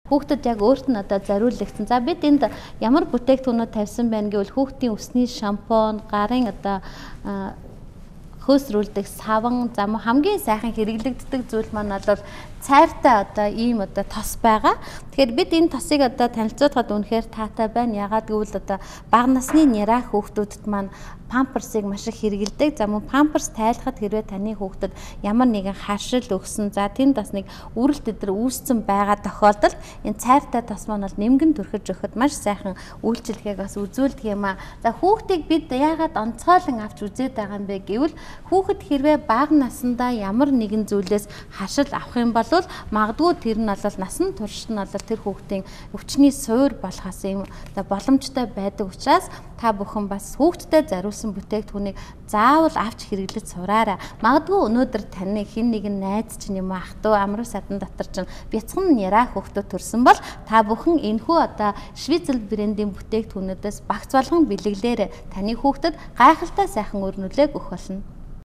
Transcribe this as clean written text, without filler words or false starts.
Хүүхдэд яг өөрт нь одоо зориулагдсан. За бид энд ямар бүтээгдэхүүнүүд тавьсан байна гэвэл хүүхдийн өсний шампунь, гарын одоо хөөсрүүлдэг саван, за хамгийн сайхан хэрэглэгддэг зүйл маань бол цайртай одоо ийм одоо тос байгаа. Тэгэхээр бид энэ тосыг одоо танилцуулахад үнэхээр таатай байна. Ягаад гэвэл одоо бага насны няраа хүүхдүүдэд маань памперсыг маш их хэрэглэдэг. За мөн памперс тайлахад хэрвээ таны хүүхдэд ямар нэгэн харшил өгсөн, за тэнд бас нэг үрэлт өдр үүссэн байгаа тохиолдолд энэ цайртай тос маань бол нэмгэн түрхэж өгөхөд маш сайхан үйлчилгээг бас үзүүлдэг юм аа. За хүүхдийг бид яагаад онцгойлон авч үзээд байгаа юм бэ гэвэл хүүхэд хэрвээ бага насндаа ямар нэгэн зүйлээс харшил авах юм бол магадгүй тэр нь бол насан туршид нь бол тэр хүүхдийн өвчний суур болохоос юм боломжтой байдаг учраас та бүхэн бас хүүхдэд зориулсан бүтээгдэхүүнийг заавал авч хэрэглэж сураарай. Магадгүй өнөөдөр таны хэн нэгэн найз чинь юм ах トゥ амруу садан дотор чинь бяцхан няраа хүүхдүүд төрсөн бол та бүхэн энэхүү одоо Швейцарь брендийн бүтээгдэхүүнүүдээс багц болгон бэлэглээрэй. Таны хүүхдэд гайхалтай сайхан өр нөлөөг өгөх болно.